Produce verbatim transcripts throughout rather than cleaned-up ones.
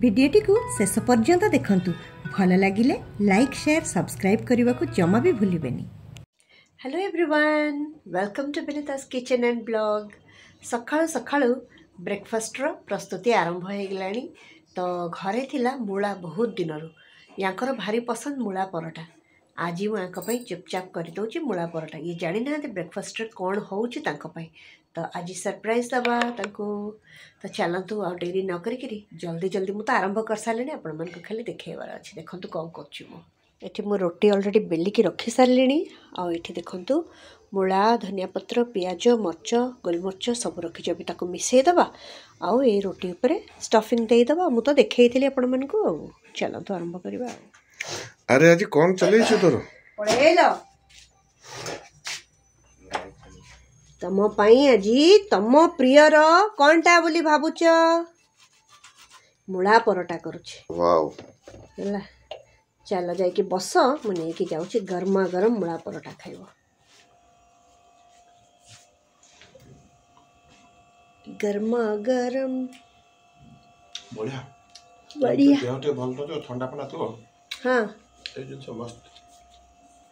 ଭିଡ଼ିଓଟିକୁ ଶେଷ ପର୍ଯ୍ୟନ୍ତ ଦେଖନ୍ତୁ। ଭଲ ଲାଗିଲେ ଲାଇକ୍, ସେୟାର, ସବସ୍କ୍ରାଇବ୍ କରିବାକୁ ଜମା ବି ଭୁଲିବେନି। Hello everyone, welcome to Binita's Kitchen and Blog। ସକାଳୁ ସକାଳୁ ବ୍ରେକଫାଷ୍ଟର ପ୍ରସ୍ତୁତି ଆରମ୍ଭ ହେଇଗଲାଣି। ତ ଘରେ ଥିଲା ମୂଳା ବହୁତ ଦିନରୁ, ୟାଙ୍କର ଭାରି ପସନ୍ଦ ମୂଳା ପରଟା। ଆଜି ମୁଁ ୟାଙ୍କ ପାଇଁ ଚୁପଚାପ କରିଦେଉଛି ମୂଳା ପରଟା। ଇଏ ଜାଣିନାହାନ୍ତି ବ୍ରେକଫାଷ୍ଟରେ କ'ଣ ହେଉଛି ତାଙ୍କ ପାଇଁ, ତ ଆଜି ସରପ୍ରାଇଜ୍ ଦେବା ତାଙ୍କୁ। ତ ଚାଲନ୍ତୁ, ଆଉ ଡେରି ନ କରିକିରି ଜଲ୍ଦି ଜଲ୍ଦି, ମୁଁ ତ ଆରମ୍ଭ କରିସାରିଲିଣି, ଆପଣମାନଙ୍କୁ ଖାଲି ଦେଖେଇବାର ଅଛି। ଦେଖନ୍ତୁ କ'ଣ କରୁଛି ମୁଁ। ଏଠି ମୁଁ ରୁଟି ଅଲରେଡ଼ି ବେଲିକି ରଖିସାରିଲିଣି। ଆଉ ଏଠି ଦେଖନ୍ତୁ, ମୂଳା, ଧନିଆ ପତ୍ର, ପିଆଜ, ମରିଚ, ଗୋଲମରିଚ ସବୁ ରଖିଛି। ଏବେ ତାକୁ ମିଶାଇଦେବା ଆଉ ଏଇ ରୁଟି ଉପରେ ଷ୍ଟଫିଂ ଦେଇଦେବା। ମୁଁ ତ ଦେଖେଇଥିଲି ଆପଣମାନଙ୍କୁ। ଆଉ ଚାଲନ୍ତୁ ଆରମ୍ଭ କରିବା। ଆଉ ଆରେ, ଆଜି କ'ଣ ଚଲେଇଛୁ ତୋର? ପଳେଇଲ। ତମ ପାଇଁ ଆଜି ତମ ପ୍ରିୟର କ'ଣଟା ବୋଲି ଭାବୁଛ? ମୂଳା ପରଟା କରୁଛି। ୱାଓ! ହେଲା, ଚାଲ ଯାଇକି ବସ, ମୁଁ ନେଇକି ଯାଉଛି, ଗରମା ଗରମ ମୂଳା ପରଟା ଖାଇବ। ଗରମା ଗରମ। ବଢିଆ। ବଢିଆ। ଦେହ ଟିକେ ଭଲ ନଥିବ, ଥଣ୍ଡା ଫଣ୍ଡା ଥିବ, ହଁ ଏଇ ଜିନିଷ ମସ୍ତ।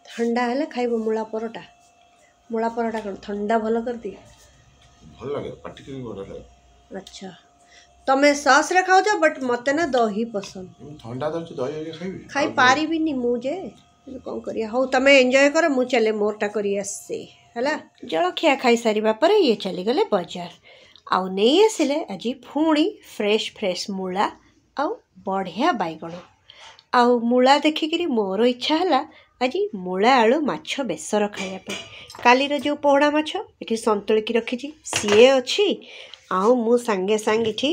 ଥଣ୍ଡା ହେଲେ ଖାଇବ ମୂଳା ପରଟା। ମୂଳା ପରଟା କ'ଣ ଥଣ୍ଡା ଭଲ କରିଦିଏ? ଭଲ ଲାଗେ, ପାଟିକି ବି ବଢିଆ ଲାଗେ। ଆଚ୍ଛା, ତମେ ସସ୍ରେ ଖାଉଛ, ବଟ୍ ମୋତେ ନା ଦହି ପସନ୍ଦ। ମୁଁ ଥଣ୍ଡା ଧରିଛି, ଦହି ହେରିକା ଖାଇବି? ଖାଇପାରିବିନି ମୁଁ ଯେ, କିନ୍ତୁ କ'ଣ କରିବା। ହଉ, ତମେ ଏନ୍ଜୟ କର, ମୁଁ ଚାଲେ, ମୋରଟା କରି ଆସେ। ହେଲା, ଜଳଖିଆ ଖାଇସାରିବା ପରେ ଇଏ ଚାଲିଗଲେ ବଜାର ଆଉ ନେଇ ଆସିଲେ ଆଜି ପୁଣି ଫ୍ରେଶ୍ ଫ୍ରେଶ୍ ମୂଳା ଆଉ ବଢ଼ିଆ ବାଇଗଣ। ଆଉ ମୂଳା ଦେଖିକିରି ମୋର ଇଚ୍ଛା ହେଲା ଆଜି ମୂଳା ଆଳୁ ମାଛ ବେସର ଖାଇବା ପାଇଁ। କାଲିର ଯେଉଁ ପୋହଳା ମାଛ ଏଠି ସନ୍ତୁଳିକି ରଖିଛି, ସିଏ ଅଛି। ଆଉ ମୁଁ ସାଙ୍ଗେ ସାଙ୍ଗେ ଏଠି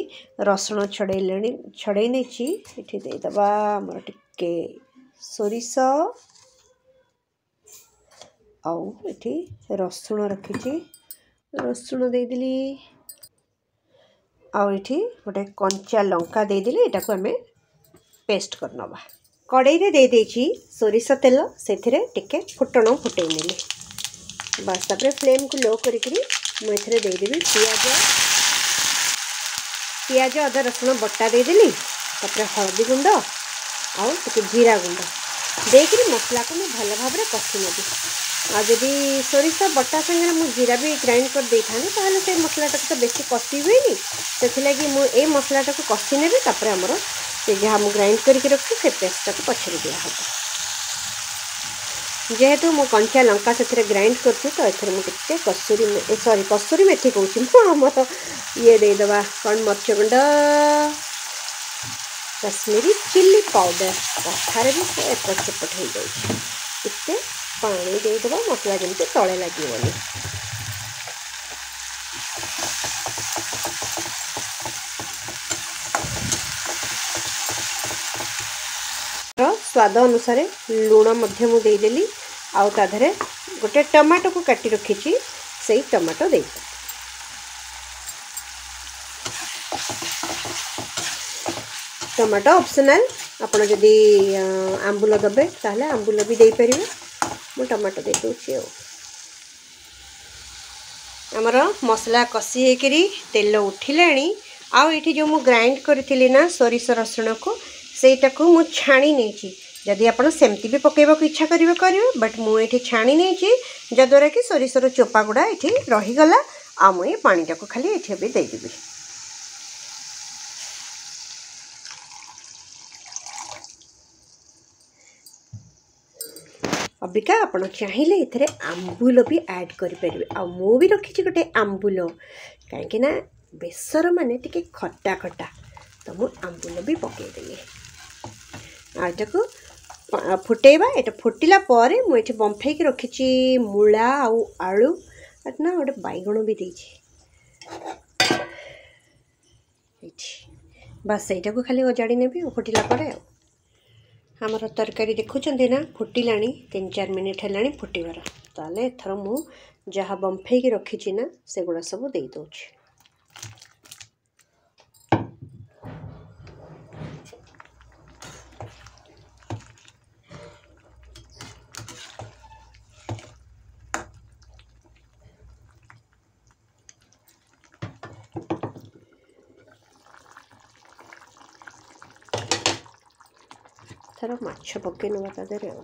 ରସୁଣ ଛଡ଼େଇଲେଣି, ଛଡ଼େଇ ନେଇଛି। ଏଠି ଦେଇଦେବା ଆମର ଟିକେ ସୋରିଷ, ଆଉ ଏଠି ରସୁଣ ରଖିଛି, ରସୁଣ ଦେଇଦେଲି। ଆଉ ଏଠି ଗୋଟେ କଞ୍ଚା ଲଙ୍କା ଦେଇଦେଲି। ଏଟାକୁ ଆମେ ପେଷ୍ଟ କରିନେବା। କଡ଼େଇରେ ଦେଇଦେଇଛି ସୋରିଷ ତେଲ, ସେଥିରେ ଟିକେ ଫୁଟଣ ଫୁଟେଇ ନେଲି, ବାସ୍। ତାପରେ ଫ୍ଲେମ୍କୁ ଲୋ କରିକିରି ମୁଁ ଏଥିରେ ଦେଇଦେବି ପିଆଜ। ପିଆଜ, ଅଦା, ରସୁଣ ବଟା ଦେଇଦେଲି। ତାପରେ ହଳଦୀ ଗୁଣ୍ଡ ଆଉ ଟିକେ ଜିରା ଗୁଣ୍ଡ ଦେଇକିରି ମସଲାକୁ ମୁଁ ଭଲ ଭାବରେ କଷି ନେବି। ଆଉ ଯଦି ସୋରିଷ ବଟା ସାଙ୍ଗରେ ମୁଁ ଜିରା ବି ଗ୍ରାଇଣ୍ଡ କରିଦେଇଥାନ୍ତି, ତାହେଲେ ସେଇ ମସଲାଟାକୁ ତ ବେଶୀ କଷି ହୁଏନି। ସେଥିଲାଗି ମୁଁ ଏଇ ମସଲାଟାକୁ କଷି ନେବି, ତାପରେ ଆମର ସେ ଯାହା ମୁଁ ଗ୍ରାଇଣ୍ଡ କରିକି ରଖିଛି, ସେ ପେଷ୍ଟଟାକୁ ପଛରେ ଦିଆହେବ। ଯେହେତୁ ମୁଁ କଞ୍ଚା ଲଙ୍କା ସେଥିରେ ଗ୍ରାଇଣ୍ଡ କରୁଛି, ତ ଏଥିରେ ମୁଁ ଟିକେ କସୁରୀ, ସରି, କସୁରୀ ମେଥି କହୁଛି ମୁଁ, ଆମର ଇଏ ଦେଇଦେବା। କ'ଣ? ମରିଚ ଗୁଣ୍ଡ, କାଶ୍ମୀରୀ ଚିଲି ପାଉଡ଼ର। କଥାରେ ବି ସେ ଏପଟ ସେପଟ ହେଇଯାଉଛି। ଟିକେ ପାଣି ଦେଇଦେବା, ମସଲା ଯେମିତି ତଳେ ଲାଗିବନି। ସ୍ୱାଦ ଅନୁସାରେ ଲୁଣ ମଧ୍ୟ ମୁଁ ଦେଇଦେଲି। ଆଉ ତା ଦେହରେ ଗୋଟେ ଟମାଟୋକୁ କାଟି ରଖିଛି, ସେଇ ଟମାଟୋ ଦେଇଦେବି। ଟମାଟୋ ଅପସନାଲ୍, ଆପଣ ଯଦି ଆମ୍ବୁଲ ଦେବେ ତାହେଲେ ଆମ୍ବୁଲ ବି ଦେଇପାରିବେ। ମୁଁ ଟମାଟୋ ଦେଇଦେଉଛି। ଆଉ ଆମର ମସଲା କଷି ହେଇକରି ତେଲ ଉଠିଲାଣି। ଆଉ ଏଇଠି ଯେଉଁ ମୁଁ ଗ୍ରାଇଣ୍ଡ କରିଥିଲି ନା ସୋରିଷ ରସୁଣକୁ, ସେଇଟାକୁ ମୁଁ ଛାଣି ନେଇଛି। ଯଦି ଆପଣ ସେମିତି ବି ପକାଇବାକୁ ଇଚ୍ଛା କରିବେ, କରିବେ, ବଟ୍ ମୁଁ ଏଇଠି ଛାଣି ନେଇଛି, ଯାହାଦ୍ୱାରା କି ସୋରିଷର ଚୋପା ଗୁଡ଼ା ଏଠି ରହିଗଲା। ଆଉ ମୁଁ ଏ ପାଣିଟାକୁ ଖାଲି ଏଠି ଏବେ ଦେଇଦେବି। ଅବିକା ଆପଣ ଚାହିଁଲେ ଏଥିରେ ଆମ୍ବୁଲ ବି ଆଡ଼୍ କରିପାରିବେ। ଆଉ ମୁଁ ବି ରଖିଛି ଗୋଟେ ଆମ୍ବୁଲ, କାହିଁକି ନା ବେସର ମାନେ ଟିକେ ଖଟା ଖଟା, ତ ମୁଁ ଆମ୍ବୁଲ ବି ପକାଇଦେଲି। ଆଉ ଏଟାକୁ ଫୁଟେଇବା। ଏଇଟା ଫୁଟିଲା ପରେ ମୁଁ ଏଠି ବମ୍ଫେଇକି ରଖିଛି ମୂଳା ଆଉ ଆଳୁ ନା ଗୋଟେ ବାଇଗଣ ବି ଦେଇଛି ଏଇଠି, ବାସ୍। ସେଇଟାକୁ ଖାଲି ଓଜାଡ଼ି ନେବି ଆଉ ଫୁଟିଲା ପରେ। ଆଉ ଆମର ତରକାରୀ ଦେଖୁଛନ୍ତି ନା, ଫୁଟିଲାଣି, ତିନି ଚାରି ମିନିଟ୍ ହେଲାଣି ଫୁଟିବାର। ତାହେଲେ ଏଥର ମୁଁ ଯାହା ବମ୍ଫେଇକି ରଖିଛି ନା, ସେଗୁଡ଼ା ସବୁ ଦେଇଦେଉଛି। ଏଥର ମାଛ ପକେଇ ନେବା ତା ଦେହରେ ଆଉ।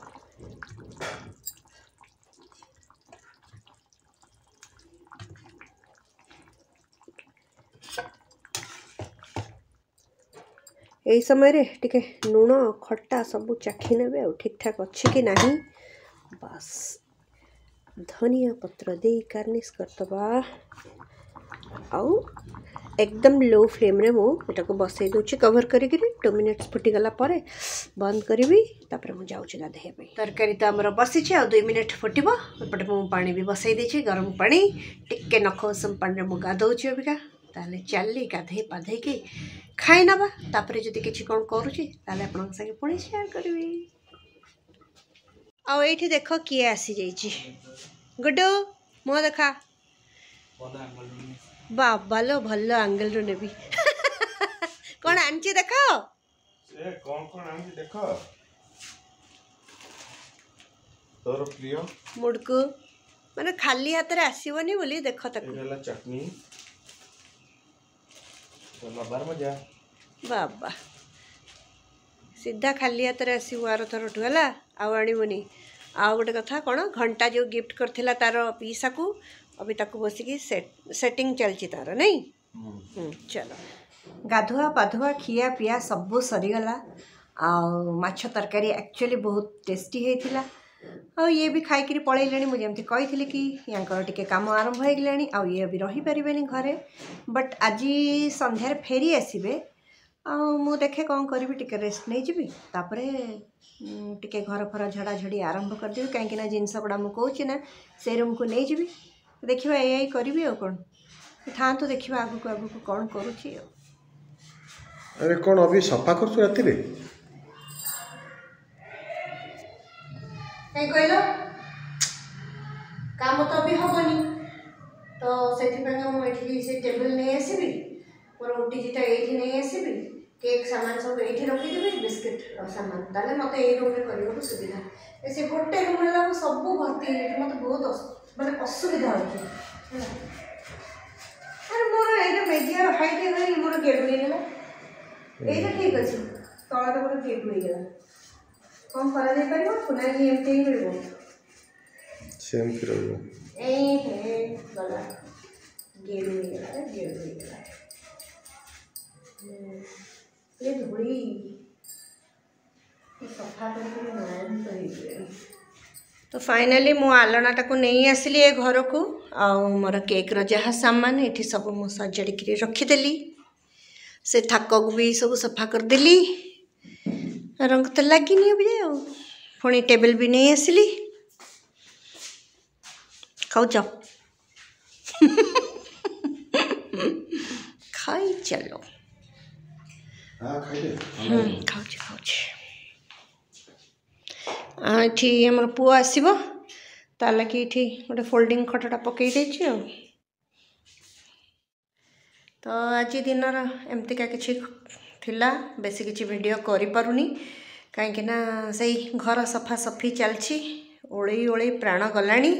ଏଇ ସମୟରେ ଟିକେ ଲୁଣ ଖଟା ସବୁ ଚାଖି ନେବେ ଆଉ ଠିକ୍ଠାକ୍ ଅଛି କି ନାହିଁ। ବାସ୍ ଧନିଆ ପତ୍ର ଦେଇ ଗାର୍ନିସ୍ କରିଦେବା। ଆଉ ଏକଦମ ଲୋ ଫ୍ଲେମ୍ରେ ମୁଁ ଏଟାକୁ ବସେଇ ଦେଉଛି କଭର୍ କରିକିରି। ଟୁ ମିନିଟ୍ସ ଫୁଟିଗଲା ପରେ ବନ୍ଦ କରିବି, ତାପରେ ମୁଁ ଯାଉଛି ଗାଧୋଇବା ପାଇଁ। ତରକାରୀ ତ ଆମର ବସିଛି, ଆଉ ଦୁଇ ମିନିଟ୍ ଫୁଟିବ। ଏପଟେ ମୁଁ ପାଣି ବି ବସେଇ ଦେଇଛି, ଗରମ ପାଣି ଟିକେ ନଖ ଉଷୁମ ପାଣିରେ ମୁଁ ଗାଧୋଉଛି ଅବିକା। ତାହେଲେ ଚାଲି ଗାଧେଇ ପାଧେଇକି ଖାଇ ନେବା, ତାପରେ ଯଦି କିଛି କ'ଣ କରୁଛି ତାହେଲେ ଆପଣଙ୍କ ସାଙ୍ଗେ ପୁଣି ସେୟାର କରିବି। ଆଉ ଏଇଠି ଦେଖ କିଏ ଆସିଯାଇଛି, ଗୁଡୁ ମୁହଁ ଦେଖା। ବାବା ଲୋ, ଭଲ ଆଙ୍ଗେଲରୁ ନେବି। କ'ଣ ଆଣିଛି ଦେଖ, ସେ କ'ଣ କ'ଣ ଆଣିଛି ଦେଖ। ତୋର ପ୍ରିୟ ମୁଡ଼କୁ, ମାନେ ଖାଲି ହାତରେ ଆସିବନି ବୋଲି ଦେଖ ତାକୁ। ଏଇଟା ହେଲା ଚଟନି, ଲବାର ମଜା। ବାବା ସିଧା ଖାଲି ହାତରେ ଆସିବୁ ଆର ଥରଠୁ, ହେଲା ଆଉ ଆଣିବୁନି। ଆଉ ଗୋଟେ କଥା କ'ଣ, ଘଣ୍ଟା ଯେଉଁ ଗିଫ୍ଟ କରିଥିଲା ତାର ପିଇସାକୁ, ଅବି ତାକୁ ବସିକି ସେଟିଂ ଚାଲିଛି ତାର, ନାଇଁ? ଚାଲ, ଗାଧୁଆ ପାଧୁଆ ଖିଆ ପିଆ ସବୁ ସରିଗଲା। ଆଉ ମାଛ ତରକାରୀ ଆକ୍ଚୁଆଲି ବହୁତ ଟେଷ୍ଟି ହେଇଥିଲା। ଆଉ ଇଏ ବି ଖାଇକିରି ପଳେଇଲେଣି। ମୁଁ ଯେମିତି କହିଥିଲି କି ୟାଙ୍କର ଟିକେ କାମ ଆରମ୍ଭ ହେଇଗଲାଣି, ଆଉ ଇଏ ବି ରହିପାରିବେନି ଘରେ, ବଟ୍ ଆଜି ସନ୍ଧ୍ୟାରେ ଫେରି ଆସିବେ। ଆଉ ମୁଁ ଦେଖେ କ'ଣ କରିବି, ଟିକେ ରେଷ୍ଟ ନେଇଯିବି, ତାପରେ ଟିକେ ଘର ଫର ଝଡ଼ାଝଡ଼ି ଆରମ୍ଭ କରିଦେବି। କାହିଁକିନା ଜିନିଷ ଗୁଡ଼ା ମୁଁ କହୁଛି ନା ସେ ରୁମ୍କୁ ନେଇଯିବି, ଦେଖିବା ଏଇଆ କରିବି ଆଉ କ'ଣ। ଥାଆନ୍ତୁ, ଦେଖିବା ଆଗକୁ ଆଗକୁ କ'ଣ କରୁଛି ଆଉ। ଆରେ କ'ଣ ଅଭି ସଫା କରୁଛୁ ରାତିରେ? କାହିଁ କହିଲ, କାମ ତ ଅଭି ହେବନି, ତ ସେଥିପାଇଁ ମୁଁ ଏଠିକି ସେ ଟେବୁଲ୍ ନେଇ ଆସିବି, ମୋର ଓଟିଜିଟା ଏଇଠି ନେଇ ଆସିବି, କେକ୍ ସାମାନ ସବୁ ଏଇଠି ରଖିଦେବି, ବିସ୍କିଟ୍ ସାମାନ। ତାହେଲେ ମୋତେ ଏଇ ରୁମ୍ରେ କରିବାକୁ ସୁବିଧା। ସେ ଗୋଟେ ରୁମ୍ ହେଲାକୁ ସବୁ ଭର୍ତ୍ତି ହେଇଯାଇଛି, ମୋତେ ବହୁତ ମାନେ ଅସୁବିଧା ହେଉଛି ହେଲା। ଆରେ ମୋର ଏଇଟା ମେଜିଆର ହାଇଟ୍ ହେଇଗଲାଣି, ମୋର ଗେଡୁ ହେଇଗଲା। ଏଇଟା ଠିକ୍ ଅଛି, ତଳଟା ମୋର ଗେଡୁ ହେଇଗଲା। କ'ଣ କରାଯାଇପାରିବ ନା ଏମିତି ହିଁ ରହିବ? ସେମିତି ରହିବ। ଏଇ ହେ ଗଲା, ଗେଡୁ ହେଇଗଲା, ଗେଡୁ ହେଇଗଲା। ଏ ଧୂଳି ସଫା କରିକି ନାରାୟଣ ହେଇଯିବେ। ତ ଫାଇନାଲି ମୁଁ ଆଲଣାଟାକୁ ନେଇ ଆସିଲି ଏ ଘରକୁ। ଆଉ ମୋର କେକ୍ର ଯାହା ସାମାନ ଏଠି ସବୁ ମୁଁ ସଜାଡ଼ିକିରି ରଖିଦେଲି। ସେ ଥାକକୁ ବି ସବୁ ସଫା କରିଦେଲି, ରଙ୍ଗ ତ ଲାଗିନି ଏବେ। ଆଉ ପୁଣି ଟେବୁଲ୍ ବି ନେଇ ଆସିଲି। ଖାଉଛ? ଖାଇ ଚାଲ। ଖାଉଛି ଖାଉଛି। ଏଠି ଆମର ପୁଅ ଆସିବ, ତା ଲାଗି ଏଠି ଗୋଟେ ଫୋଲ୍ଡିଂ ଖଟଟା ପକେଇ ଦେଇଛି। ଆଉ ତ ଆଜି ଦିନର ଏମିତିକା କିଛି ଥିଲା, ବେଶୀ କିଛି ଭିଡ଼ିଓ କରିପାରୁନି କାହିଁକିନା ସେଇ ଘର ସଫାସଫି ଚାଲିଛି। ଓଳେଇ ଓଳେଇ ପ୍ରାଣ ଗଲାଣି,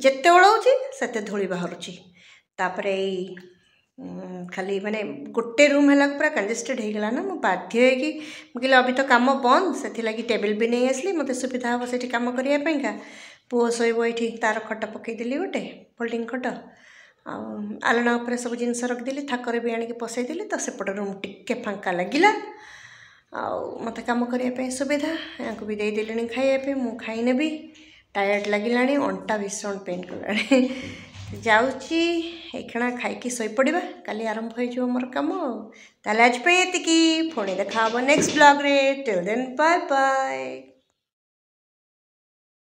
ଯେତେ ଓଳଉଛି ସେତେ ଧୂଳି ବାହାରୁଛି। ତାପରେ ଏଇ ଖାଲି ମାନେ ଗୋଟେ ରୁମ୍ ହେଲାକୁ ପୁରା କଞ୍ଜେଷ୍ଟେଡ଼ ହେଇଗଲା ନା, ମୁଁ ବାଧ୍ୟ ହେଇକି ମୁଁ କହିଲି ଅବି ତ କାମ ବନ୍ଦ, ସେଥିଲାଗି ଟେବୁଲ୍ ବି ନେଇ ଆସିଲି, ମୋତେ ସୁବିଧା ହେବ ସେଠି କାମ କରିବା ପାଇଁକା। ପୁଅ ଶୋଇବ ଏଇଠି, ତାର ଖଟ ପକେଇଦେଲି ଗୋଟେ ଫୋଲ୍ଡିଂ ଖଟ, ଆଉ ଆଲଣା ଉପରେ ସବୁ ଜିନିଷ ରଖିଦେଲି, ଥାକରେ ବି ଆଣିକି ପସେଇଦେଲି। ତ ସେପଟ ରୁମ୍ ଟିକେ ଫାଙ୍କା ଲାଗିଲା, ଆଉ ମୋତେ କାମ କରିବା ପାଇଁ ସୁବିଧା। ୟାଙ୍କୁ ବି ଦେଇଦେଲିଣି ଖାଇବା ପାଇଁ, ମୁଁ ଖାଇନେବି। ଟାୟାର୍ଡ଼ ଲାଗିଲାଣି, ଅଣ୍ଟା ଭୀଷଣ ପେନ୍ କଲାଣି। ଯାଉଛି ଏଇକ୍ଷଣା ଖାଇକି ଶୋଇପଡ଼ିବା, କାଲି ଆରମ୍ଭ ହେଇଯିବ ମୋର କାମ। ଆଉ ତାହେଲେ ଆଜି ପାଇଁ ଏତିକି, ପୁଣି ଦେଖା ହେବ next ବ୍ଲଗ୍ରେ। Till then bye bye.